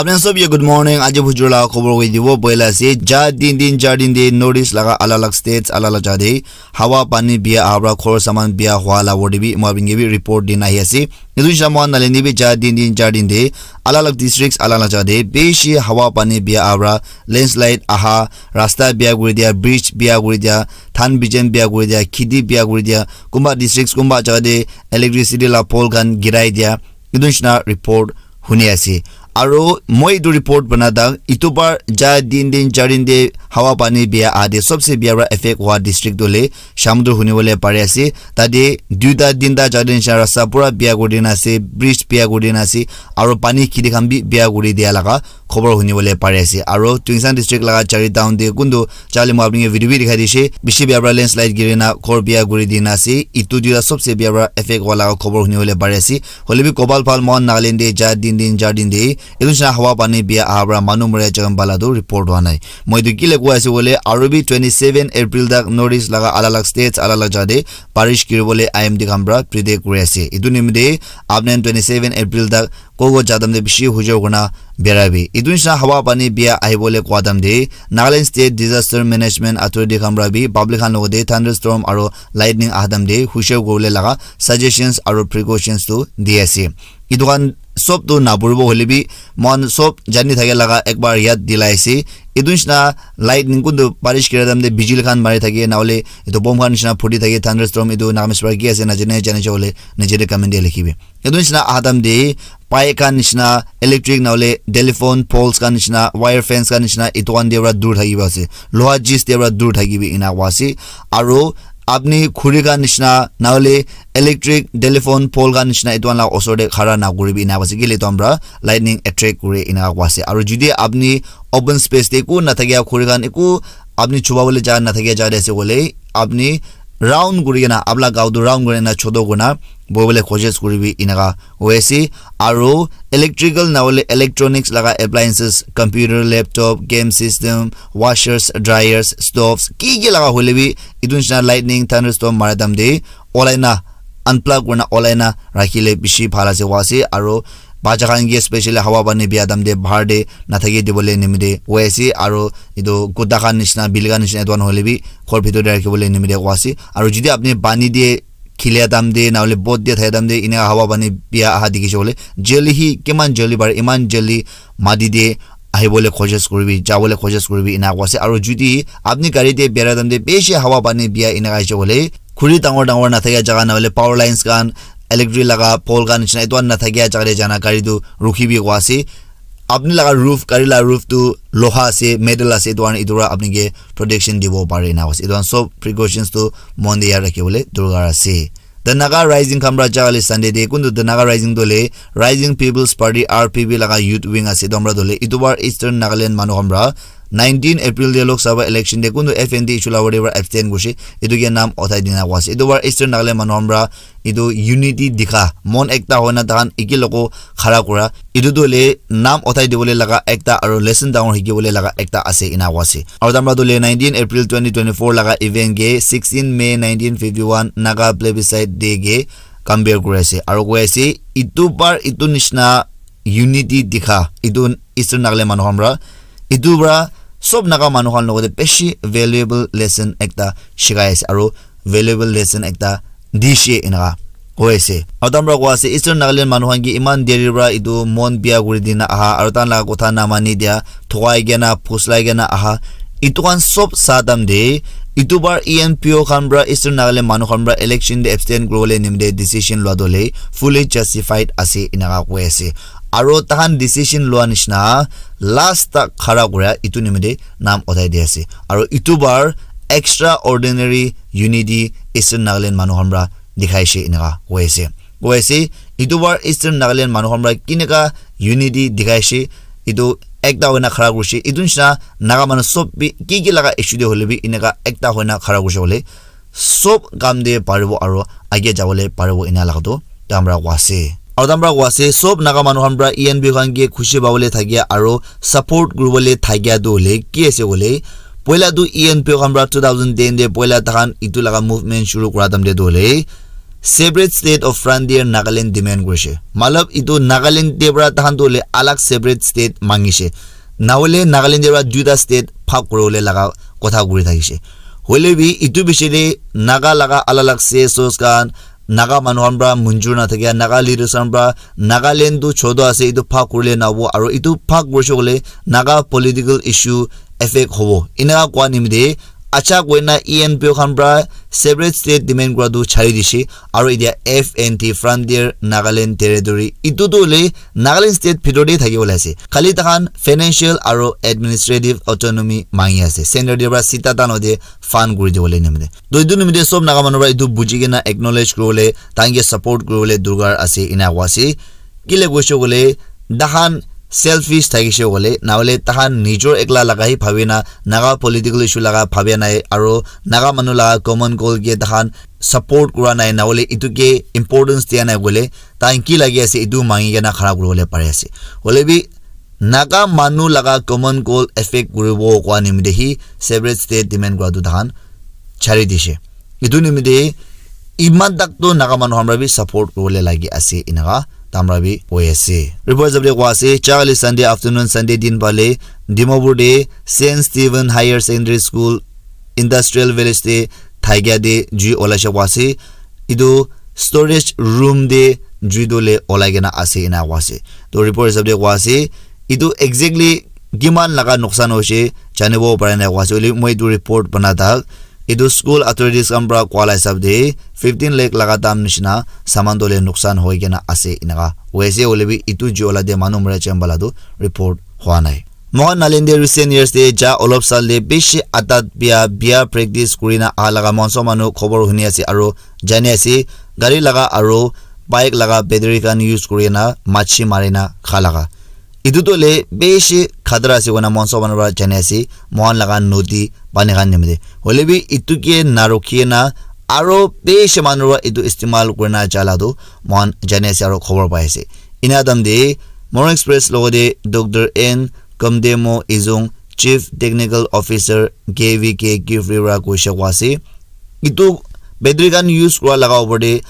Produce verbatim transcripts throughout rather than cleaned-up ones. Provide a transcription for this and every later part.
Apni khan sob ke good morning. Aji bujur laga khobor koi dibo. Poila ase, ja din din, char din de North East laga alag alag states, alag alag jaga de hawa pani biya aha pra ghor saman biya hua la word bi moi apni ke bi report din ahi ase. Etu hisab moi Nagaland de bi ja din din, char din de alag alag districts, alag alag jaga de bishi hawa pani biya aha pra landslide aha, rasta biya kuri dia, bridge biya kuri dia, dhan bijan biya kuri dia, kheti biya kuri dia, kumba districts, kumba jaga de electricity la pole khan girai dia. Etu nishina report huni ase. Aro moi etu report bana tak, etu par ja din din, char din de hawa pani biya aha de sobse biya pra effect hua district tu hoile Shamator huni bole pari ase. Tate duita tinta jaga de nishina rasta pura biya kuri dina ase, bridge biya kuri dina ase, aro pani kheti khan bi biya kuri dia laga khobor huni bole pari ase. Aro Tuensang district laga Chari town de kuntu jale moi apni ke video bi dikhai dishe, bishi biya pra landslide giri na ghor biya kuri dina ase. Etu duita sobse biya pra effect hua laga khobor huni bole pari ase. Hoile bi kobal phal moi Nagaland de ja din din, char din de etu nishina hawa pani biya aha pra manu mori jaga bala tu report hua nai. Moi etu kile koi ase koile, aro bi twenty seven April tak North East laga alag alag states, alag alag jaga de barish giri bole I M D khan pra predict kuri ase. Etu nimite apni khan twenty seven April tak ko ko jaga tam de bishi hujor kurna bera bi. Etu nishina hawa pani biya ahi bole kua tam de Nagaland State Disaster Management Authority khan pra bi public khan logote thunderstorm aro lightning aha tam de hujor kuri bole laga suggestions aro precautions tu di ase. Etu khan sob tu napuribo hoile bi moi khan sob jani thake laga ekbar yad dilai ase. Etu nishina lightning kuntu barish kira time te bijili khan mari thake, na hoile etu bomb khan nishina phuti thake, thunderstorm, etu Nagamese para ki ase najane, jane hoile niche te comment te likhibi. Etu nishina aha time te pipe khan nishina, electric na hoile telephone poles khan nishina, wire fence khan nishina, etu khan te para dur thakibo ase, loha chis te para dur thakibi, ena koa ase. Aru apni khuri khan nishina, na hoile electric telephone pole khan nishina etu khan la osor te khara na kuribi, ena koa ase, kile etu khan para lightning attract kure, ena koa ase. Aru jodi apni open space te eku na thakia, khuri khan eku apni chuba bole jaga na thakia jaga te ase koile, apni round kuri kena, apna gao tu round kuri kena chotu kurna bohi bole koshish kuribi, eneka hoi ase. Aru electrical na hoile electronics laga appliances, computer, laptop, game system, washers, dryers, stoves, ki ki laga hoile bi, etu nishina lightning, thunderstorm mara time te olai na, unplug kurina olai na rakhile bishi bhal ase, koa ase. Aru bacha khan ke specially hawa pani biya time te bahar te na thaki dibole nimite koi ase. Aru etu kuta khan nishina, bili khan nishina, etu khan hoile bi ghor bhitor te rakhi bole nimite koa ase. Aru jodi apni pani te khilia time te, na hoile boat te thaka time te, eneka hawa pani biya aha dikhi se koile, jaldi hi, kiman jaldi pare, iman jaldi mati te ahi bole koshish kuribi, ja bole koshish kuribi, ena koa ase. Aru jodi apni gari te bera time te bishi hawa pani biya eneka ahi se koile, khuri dangor dangor na thakia jaga, na hoile power lines khan, electric laga pole khan nishina, etu khan na thakia jaga te jana gari tu rukhibi, koa ase. Apni laga roof, gari la roof tu loha ase, metal ase, etu karne etu para apni ke protection dibo pare, ena koa ase. Etu khan sob precautions tu mon te yaad rakhi bole dorkar ase. The Naga Rising khan para ja kali Sunday te, kuntu The Naga Rising tu hoile Rising People's Party, R P P, laga youth wing ase, etu khan para tu hoile etu bar Eastern Nagaland manu khan para nineteen April te Lok Sabha election te kuntu F N T issue la whatever abstain kurise, etu ke naam uthai dina koa ase. Etu bar Eastern Nagaland manu khan para etu unity dikha, mon ekta hoina tahan eki logo khara kura, etu tu hoile naam uthai dibole laga ekta aru lesson dangor hikibole laga ekta ase, ena koa ase. Aru tamra tu hoile nineteen April twenty twenty-four laga event ke sixteen May nineteen fifty-one Naga Plebiscite Day ke compare kuri ase. Aru koi ase, etu bar etu nishina unity dikha, etu Eastern Nagaland manu khan para, etu para sob Naga manu khan logote bishi valuable lesson ekta shikai ase. Aru valuable lesson ekta dishe, eneka koi ase. Aru tamra koi ase, Eastern Nagaland manu khan ke iman deri para etu mon biya kuri dina aha, aru tahan laga kotha na mani dia, thokai kena, phuslai kena aha, etu khan sob sa time te, etu bar E N P O khan para, Eastern Nagaland manu khan para election te abstain kuri bole nimite decision lua tu hoile fully justified ase, eneka koi ase. Aru tahan decision lua nishina last tak khara kura, etu nimite naam uthai di ase. Aru etu bar extraordinary unity Eastern Nagaland manu khan para dikhai she, eneka koi ase. Koi ase, etu bar Eastern Nagaland manu khan para keneka unity dikhai she, etu ekta hoina khara kurise. Etu nishina Naga manu sob bi ki ki laga issue te hoile bi eneka ekta hoina khara kurise koile sob kam te paribo aru age jabole paribo, ena laga tu tamra koi ase. Aru tamra koi ase, sob Naga manu khan para E N P O khan ke khushi pabole thakia aru support kuribole thakia tu hoile ki ase koile, poila tu E N P O khan para two thousand ten te poila tahan etu laga movement shuru kura time te tu hoile separate state of frontier Nagaland demand kurishe. Matlab, itu Nagaland te pra tahan tu le alag separate state mangishe. Nahole Nagaland te pra duita state bhag kuribole laga kotha kuri thakishe. Hoile bi itu bishi te Naga laga alag alag C S Os khan, Naga manu khan pra munjur na thakia, Naga leaders khan pra Nagaland tu choto ase, itu bhag kurile nabo, aro itu bhag kurishe kole Naga political issue affect hobo. Enaka koa nimite acha koina E N P O khan pra separate state demand kura tu chari dishe, aro itia F N T, Frontier Nagaland Territory, itu tu le Nagaland state bhitor te thaki bole ase. Khali takhan financial aro administrative autonomy mangi ase. Center te pra sita tano de fund kuri dibole nimite. To itu nimite sob Naga manu pra itu buji kena acknowledge kuribole, tahan ke support kuribole durkar ase ena koa ase. Kile koishe kole, tahan selfish thakishe kole, nahole tahan nijor ekla laga hi bhabi na, Naga political issue laga bhabia nai, aro Naga manu laga common goal ke tahan support kura nai, nahole itu ke importance dia nai kole, tahan ki lagi ase itu mangi kena khara kuribole pari ase. Hoile bi Naga manu laga common goal affect kuribo koa nimite hi separate state demand kura tu tahan chari dishe. Itu nimite iman tak tu Naga manu hamra bi support kuribole lagi ase inaka tamra bi koi ase. Report hisab te koa ase, chakali Sunday afternoon, Sunday din pale Dimapur te Saint Stephen Higher Secondary School Industrial Village te thakia te jui olaishe koa ase. Itu storage room te jui tu le olai kena ase ena koa ase. To report hisab te koa ase, itu exactly kiman laga nuksan hoishe janibo para nai koa ase. Hoile moi itu report bana thak, itu school authorities khan pra koa la hisab te fifteen lakh laga dam nishina saman tu le nuksan hoi kena ase inaka koi ase. Hoile bi itu jui ola te manu mara chamba la tu report hua nai. Mohan Nagaland te recent years te ja olop sal te bishi atat bia, bia practice kurina aha laga mohan sob manu khobor huni ase aro jani ase, gari laga aro bike laga battery khan use kurina machi marina kha laga. Itu tu le bishi khatara ase koina mohan sob manu pra jani ase, mohan laga nodi pani khan nimite. Hoile bi itu ke narukhi na aro bishi manu pra itu istemal kurina jala tu mohan jani ase aro khobor pai ase. Ena tam te Morung Express logote Doctor N Kamdemo Izung, Chief Technical Officer K V K Kiphire pra koishe koa ase, itu battery khan use kura laga opor te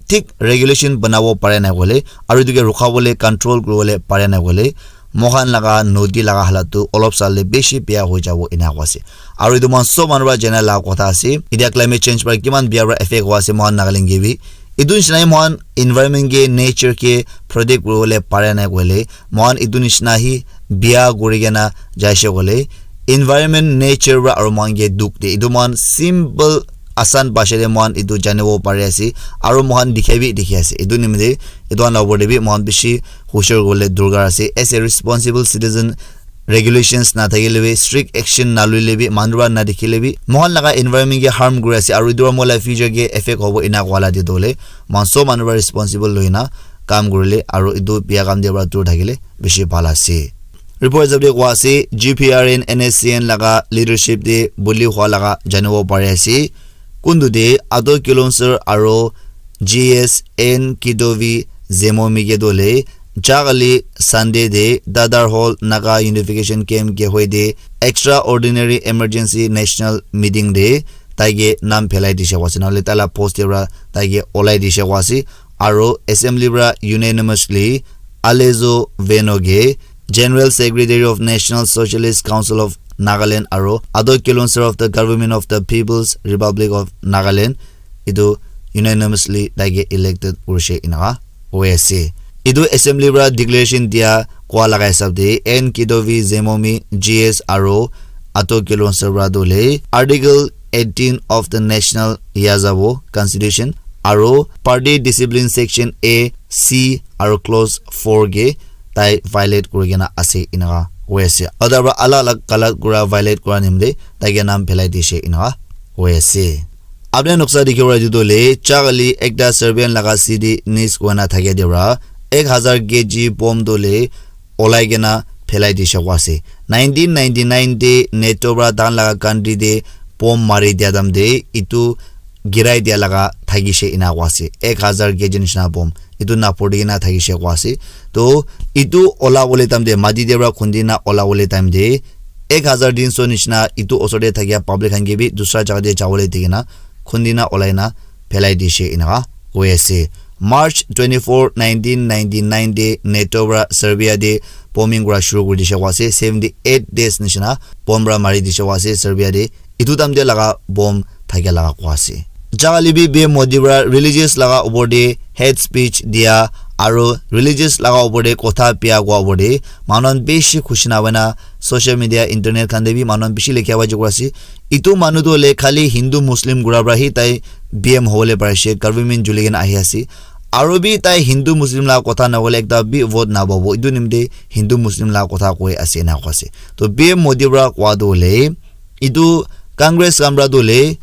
thik regulation banabo pare nai koile, aru itu ke rukhabole, control kuribole pare nai koile, moikhan laga nodi laga halat tu olop sal te bishi beya hoi jabo ena koa ase. Aru itu moikhan sob manu pra jana laga kotha ase, itya climate change pra kiman beya pra effect hoi ase moikhan Nagaland ke bi. Itu nishina hi moikhan environment ke, nature ke protect kuribole pare nai koile, moikhan itu nishina hi beya kuri kena jaise koile, environment, nature pra aru moikhan ke dukh de. Itu moikhan simple, asan bhasha te moikhan itu janibo pari ase, aru moikhan dikha bi dikhi ase. Itu nimite itu khan la opor te bi moikhan bishi hushar kuribole durkar ase. As a responsible citizen, regulations na thakile bi, strict action na loile bi, manu pra na dikhile bi, moikhan laga environment ke harm kuri ase, aru itu pra moi la future ke effect hobo ena koa la te tu hoile, moikhan sob manu pra responsible loina kam kurile, aru itu beya kam te pra dur thakile bishi bhal ase. Report hisab te koa ase, G P R N N S C N laga leadership te buli hua laga janibo pari ase. Kuntu te Ato Kilonser aru G S N Kidovi Zemomi ke tu hoile, jakali Sunday te Dadar Hall Naga Unification Camp ke hoi te Extraordinary Emergency National Meeting te tai ke nam phelai dishe koa ase, nahole tai la post te pra tai ke olai dishe koa ase, aru assembly pra unanimously Alezo Veno ke General Secretary of National Socialist Council of Nagaland aru Ato Kilonser of the Government of the People's Republic of Nagaland, itu unanimously tai ke elected kurishe inaka hoi ase. Itu assembly pra declaration dia koa laga hisab te N Kidovi Zemomi G S aru Ato Kilonser pra tu hoile Article eighteen of the National Yazabo Constitution aru Party Discipline Section A, C aru Clause four ke tai violate kuri kena ase inaka hoi ase. Aru tai pra alag alag galat kura, violate kura nimite tai ke nam phelai dishe inaka hoi ase. Apni noksa dikhi pare etu tu hoile, jakali ekta Serbian laga city Niš koina thakia te pra ek hazar K G bomb tu hoile olai kena phelai dishe koa ase. Nineteen ninety-nine te NATO pra tahan laga country te bomb mari dia time te etu girai dia laga thakishe ena koa ase. Ek hazar K G nishina bomb etu napori kena thakishe koa ase. To etu ola bole time te, mati te pra khundi na ola bole time te, ek hazar tin so nishina etu osor te thakia public khan ke bi dusra jaga te jabole di kena khundi na olai na phelai dishe enaka koi ase. March twenty-four, nineteen ninety-nine te NATO para Serbia te bombing kura shuru kuri dishe koa ase. Seventy-eight days nishina bomb para mari dishe koa ase Serbia te. Etu time te laga bomb thakia laga koa ase. Jagale bi P M Modi para religious laga upor te hate speech dia aro religious laga upor te kotha bia koa upor te manu khan bishi khushi na hoina social media, internet khan te bi manu khan bishi lekhia pai jabo ase. Etu manu tu hoile khali Hindu Muslim kura para hi tai P M hobole parise, government juli kena ahi ase. Aro bi tai Hindu Muslim laga kotha na hoile ekta bi vote na pabo. Etu nimite Hindu Muslim laga kotha koi ase ena koa ase. To P M Modi para koa tu hoile etu Congress khan para tu hoile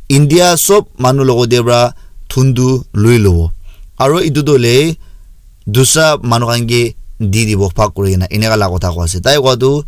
India sob manu logot te para thun tu lui lobo. Aro etu tu hoile dusra manu khan ke di dibo bhag kuri kena eneka laga kotha koa ase. Tai koa tu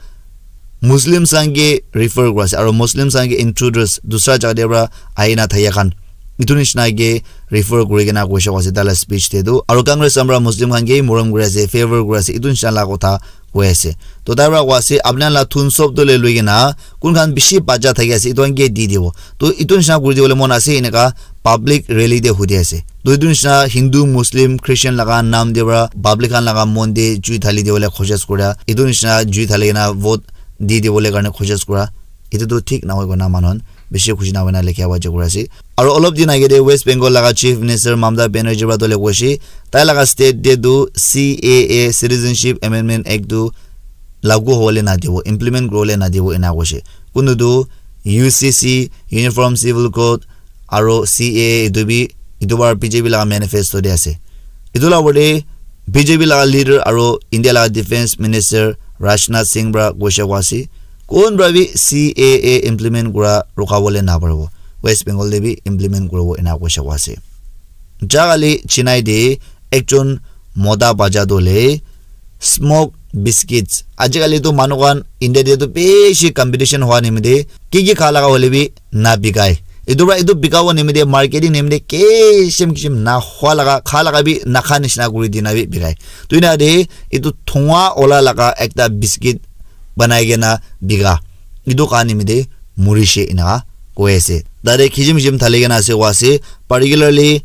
Muslims khan ke refer kura ase aro Muslims khan ke intruders dusra jaga te para ahi na thaka khan etu nishina ke refer kuri kena koise koa ase tai laga speech te tu. Aro Congress khan para Muslim khan ke morom kuri ase, favor kuri ase, etu nishina laga kotha koi ase. To tai para koa ase apni khan laga thun sob tu le lui kena kun khan bishi bacha thaki ase etu khan ke di dibo. To etu nishina kuri dibole mon ase eneka public rally te hudi ase. To etu nishina Hindu, Muslim, Christian laga naam te para public khan laga mon te jui thali dibole koshish kura. Etu nishina jui thali kena vote di dibole karne koshish kura. Etu tu thik nahoi koina manu khan bishi khushi na hoina lekhia pai jabo ase. Aro olop din age te West Bengal laga Chief Minister Mamata Banerjee para tu le koise tai laga state te tu C A A, Citizenship Amendment Act tu lagu hobole na dibo, implement kuribole na dibo ena koise. Kuntu tu U C C, Uniform Civil Code, aro C A A etu bi etu bar B J P laga manifesto te ase. Etu laga opor te B J P laga leader aro India laga defense minister Rajnath Singh para koise koa ase, kun para bi C A A implement kura rukha bole na paribo, West Bengal te bi implement kuribo ena koise koa ase. Jagale Chennai te ekjon mota bacha tu hoile smoke biscuits. Ajikali tu manu khan India te tu bishi competition hua nimite ki ki kha laga hoile bi na bikai. Etu para etu bikabo nimite marketing nimite kishim kishim na hua laga kha laga bi na kha nishina kuri dina bi bikai. Tu ena te etu thunga ola laga ekta biscuit banai kena bika. Etu kha nimite murishe ena koi ase. Tate kishim kishim thali kena ase koa ase, particularly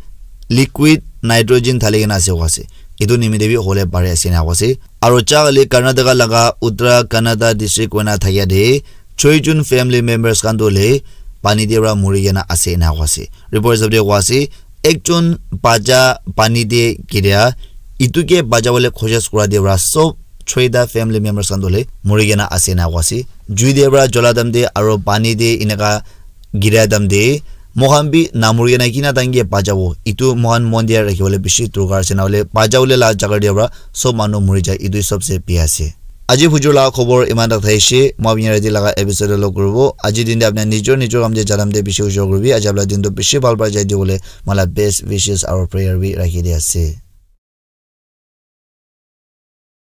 liquid nitrogen thali kena ase koa ase. Etu nimite bi hole pare ase ena koa ase. Aro jagale Karnataka laga Uttara Kannada district koina thakia te choi jon family members khan tu hoile pani te para muri kena ase ena koa ase. Report hisab te koa ase ekjon bacha pani te giria, etu ke bacha bole koshish kura te para sob choita family members khan tu hoile muri kena ase ena koa ase. Jui te para jola time te aro pani te eneka giria time te moikhan bi na muri kena kina time ke bachabo. Etu moikhan mon dia rakhi bole bishi dorkar ase, na hoile bacha bole la jaga te para sob manu muri jai, etu sob se bia ase. Aji bujur laga khobor iman tak thaishe, moi apni yate laga episode lo kuribo. Aji din te apni nijor nijor kam te janam te bishi ujor kuribi. Aji apna din to bishi bhal para jai dibole moi la best wishes aro prayer bi rakhi di ase.